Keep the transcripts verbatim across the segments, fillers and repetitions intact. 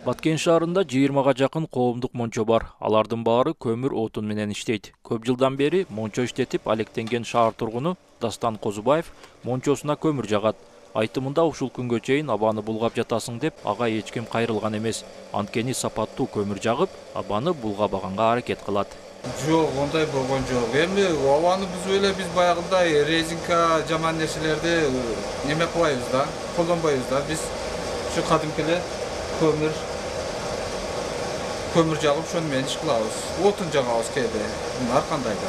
Баткен шаарында жыйырмага жакын коомдук мончо бар. Алардын баары көмүр отун менен иштейт. Көп жылдан бери мончо иштетип алектенген шаар тургуну Дастан Козубаев мончосуна көмүр жагат. Айтымында ушул күнгө чейин абаны булгап жатасың деп ага эч ким кайрылган эмес. Анткени сапаттуу көмүр жагып, абаны булгабаганга аракет кылат. Жок, ондай болгон жок. Эми абаны бузуп эле биз баягындай резинка жаман нерселерди неме кылбайбыз да, колдонбойбуз да. Биз ушу кадимки эле көмүр көмүр жагып, ошону менен иш кылабыз. Отун жагабыз кээде. Ар кандай да.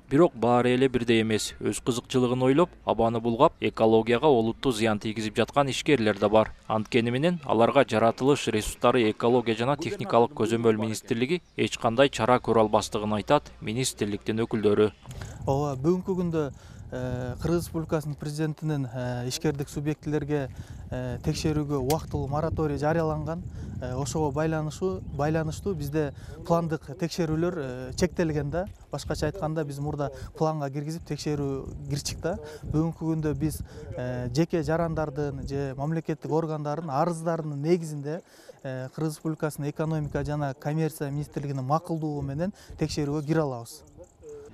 Бирок баары эле бирдей эмес. Өз кызыкчылыгын ойлоп, абаны булгап, экологияга олуттуу зыян тийгизип жаткан ишкерлер да бар. Анткени менен аларга жаратылыш ресурстары экология жана техникалык көзөмөл министрлиги эч кандай чара көрө албастыгын айтат министрликтин өкүлдөрү. Ооба, бүгүнкү күндө Кыргыз Республикасынын президентинин ишкердик субъектилерге текшерүүгө убактылуу мораторий жарыяланган. Ошого байланыштуу байланыштуу бизде пландык текшерүүлөр чектелген да. Башкача айтканда, биз мурда планга киргизип текшерүү кирчик да. Бүгүнкү күндө биз жеке жарандардын же мамлекеттик органдардын арыздарынын негизинде Кыргыз Республикасынын экономика жана коммерция министрлигинин макулдугу менен текшерүүгө кире алабыз.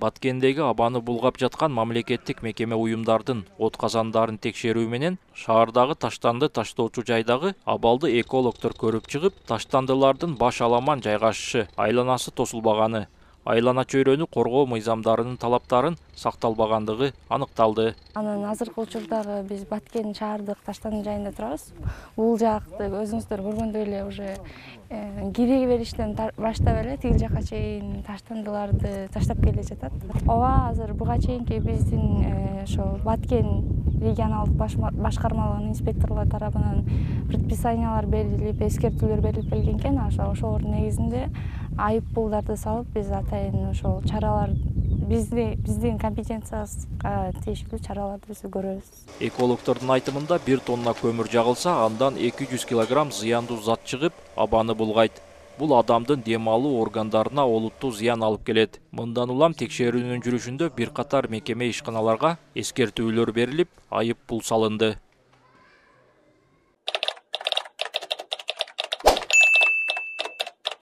Баткендеги абаны булгап жаткан мамлекеттик мекеме уюмдардын от казандарын текшерүү менен шаардагы таштанды таштоочу жайдагы абалды экологдор көрүп чыгып, таштандылардын баш аламан жайгашышы, айланасы тосулбаганы, айлана чөйрөнү коргоо мыйзамдарынын талаптарын сакталбагандыгы аныкталды. Анан азыркы учурдагы биз Баткен шаардык таштанды жайында турабыз. Бул жакты өзүңүздөр көргөндөй эле уже кире бериштен баштап эле тиги жака чейин таштандыларды таштап келе жатат. Ооба, азыр буга чейинки биздин ошо Баткен регионалдык башкармалыгынын инспекторлор тарабынан предписаниялар берилип, эскертүүлөр берилип келген экен. Ошолордун негизинде айып пулдарды салып, биз атайын ошол чаралар бизди биздин компетенциябызга тийиштүү чараларды биз көрөбүз. Экологдордун айтымында бир тонна көмүр жагылса, андан эки жүз килограмм зыяндуу зат чыгып, абаны булгайт. Бул адамдын дем алуу органдарына олуттуу зыян алып келет. Мындан улам текшерүүнүн жүрүшүндө бир катар мекеме ишканаларга эскертүүлөр берилип, айып пул салынды.